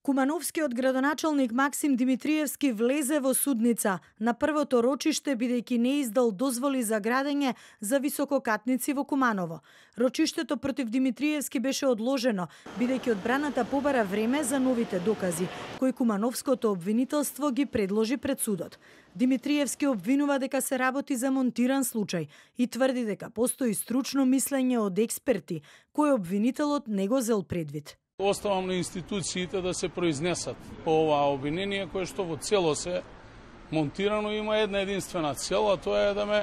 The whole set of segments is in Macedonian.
Кумановскиот градоначалник Максим Димитриевски влезе во судница на првото рочиште бидејќи не издал дозволи за градење за висококатници во Куманово. Рочиштето против Димитриевски беше одложено бидејќи одбраната побара време за новите докази кои кумановското обвинителство ги предложи пред судот. Димитриевски обвинува дека се работи за монтиран случај и тврди дека постои стручно мислење од експерти кој обвинителот не го зел предвид. Оставам на институциите да се произнесат по оваа обвинение кое што во цело се монтирано има една единствена цел, а тоа е да ме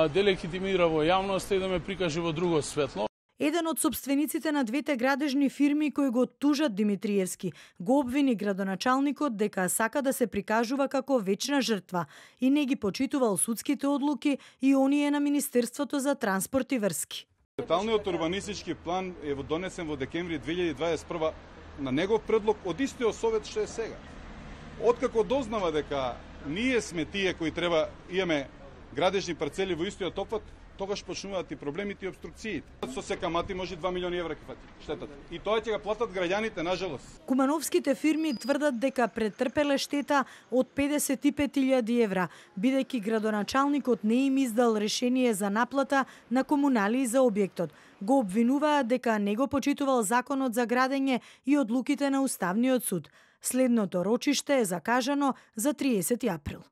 делегитимира во јавноста и да ме прикаже во друго светло. Еден од собствениците на двете градежни фирми кои го тужат Димитриевски го обвини градоначалникот дека сака да се прикажува како вечна жртва и не ги почитувал судските одлуки и оние на Министерството за транспорт и врски. Деталниот урбанистички план е донесен во декември 2021 на негов предлог од истиот совет што е сега. Откако дознава дека ние сме тие кои треба имаме градежни парцели во истиот опфат, тогаш почнуваат и проблемите и обструкциите. Со се камати може 2 милиони евра ќе фати штетата. И тоа ќе го платат граѓаните, нажалост. Кумановските фирми тврдат дека претрпеле штета од 55.000 евра, бидејќи градоначалникот не им издал решение за наплата на комуналии за објектот. Го обвинуваат дека не го почитувал законот за градење и одлуките на Уставниот суд. Следното рочиште е закажано за 30 април.